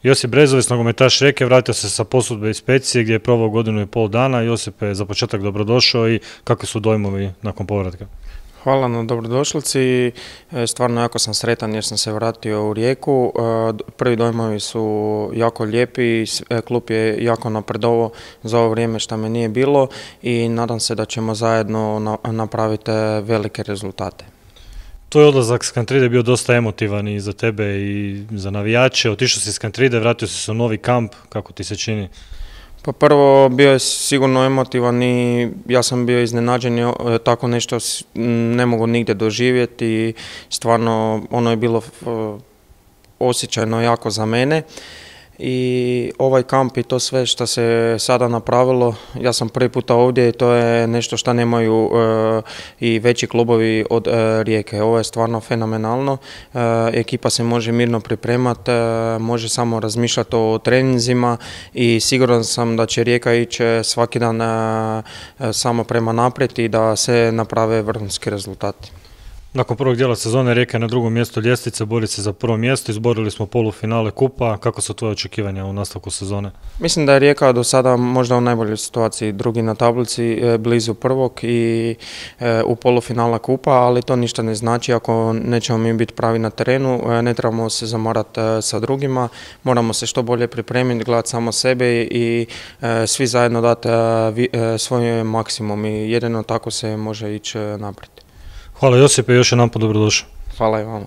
Josip Brezović, nogometaš Rijeke, vratio se sa posudbe iz Specije gdje je proveo 1,5 dana. Josipe, za početak dobrodošao i kakvi su dojmovi nakon povratka? Hvala na dobrodošlici. Stvarno jako sam sretan jer sam se vratio u Rijeku. Prvi dojmovi su jako lijepi, klub je jako napredovao za ovo vrijeme što me nije bilo i nadam se da ćemo zajedno napraviti velike rezultate. Tvoj odlazak s Kantride bio dosta emotivan i za tebe i za navijače. Otišao si s Kantride, vratio si se u novi kamp, kako ti se čini? Pa prvo bio je sigurno emotivan i ja sam bio iznenađen, tako nešto ne mogu nigdje doživjeti i stvarno ono je bilo osjećajno jako za mene. I ovaj kamp i to sve što se sada napravilo, ja sam prvi puta ovdje i to je nešto što nemaju i veći klubovi od Rijeke. Ovo je stvarno fenomenalno, ekipa se može mirno pripremati, može samo razmišljati o treninzima i siguran sam da će Rijeka ići svaki dan samo prema naprijed i da se naprave vrhunski rezultati. Nakon prvog dijela sezone Rijeka je na drugom mjestu ljestvice, bori se za prvo mjesto, izborili smo polufinale kupa. Kako su tvoje očekivanja u nastavku sezone? Mislim da je Rijeka do sada možda u najboljoj situaciji, drugi na tablici, blizu prvog i u polufinala kupa, ali to ništa ne znači ako nećemo mi biti pravi na terenu, ne trebamo se zamarati sa drugima, moramo se što bolje pripremiti, gledati samo sebe i svi zajedno dati svoj maksimum i jedino tako se može ići naprijed. Hvala Josipe, još jedanput dobrodošao. Hvala i vama.